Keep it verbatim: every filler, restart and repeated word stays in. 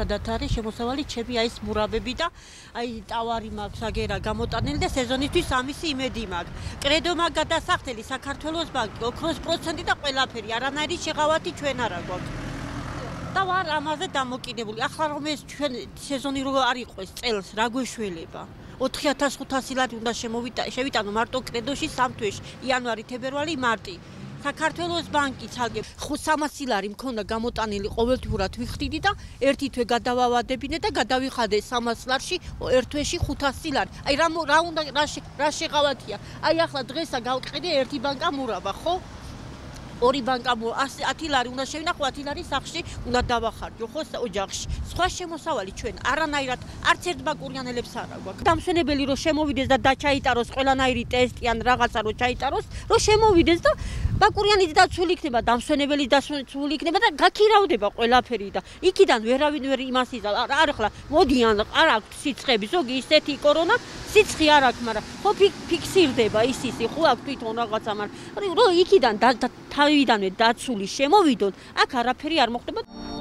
ძირითადად არის შემოსავალი ჩემი აი ეს მურაბები და აი ტავარი მაქვს აგერა გამოტანილი და სეზონისთვის ამისი იმედი მაქვს. კრედო მაგ გადასახდელი საქართველოს ბანკი ოქროს პროცენტი და ყველაფერი არანაირი შეღავათი ჩვენ არ გვაქვს. და ვარ ამაზე დამოკიდებული. ახლა რომ ეს ჩვენ სეზონი რო არ იყოს წელს რა გვეშველება? ოთხი ათას ხუთასი ლარი უნდა შევიტანო მარტო კრედოში სამ თვეში, იანვარი, თებერვალი, მარტი. საქართველოს ბანკი ცალკე სამასი ლარი მქონდა გამოტანილი ყოველთვიურად ვიხდიდი და ერთი თვე გადავავადებინე და გადავიხადე სამას ლარში ერთ თვეში ხუთასი ლარი. აი რა რა უნდა რა შეღავათია? აი ახლა დღესა გავყიდე ერთი ბანკა მურაბა, ხო? ორი ბანკა ათი ლარი უნდა შევინახო, ათი ლარი სახში უნდა დავახარჯო, ხო, ოჯახში. სხვა შემოსავალი ჩვენ არანაირად არც ერთ ბაკურიანელებს არ აქვს. დამსვენებელი რომ შემოვიდეს და დაჩაიტაროს ყველანაირი ტესტი ან რაღაცა რომ ჩაიტაროს, რომ შემოვიდეს და ბაკურიანიც დაცული იქნება, დამსვენებელი დაცული იქნება და გაქირავდება ყველაფერი და იქიდან ვერავინ ვერ იმას იზა. არ ახლა მოდიან, არ აქვს სიცხები, ზოგი ისეთი კორონა, სიცხი არ აქვს, მაგრამ ხო ფიქსირდება ის ისი, ხო აქვს თვითონ რაღაცა, მაგრამ რომ იქიდან თავიდანვე დაცული შემოვიდონ, აქ არაფერი არ მოხდება.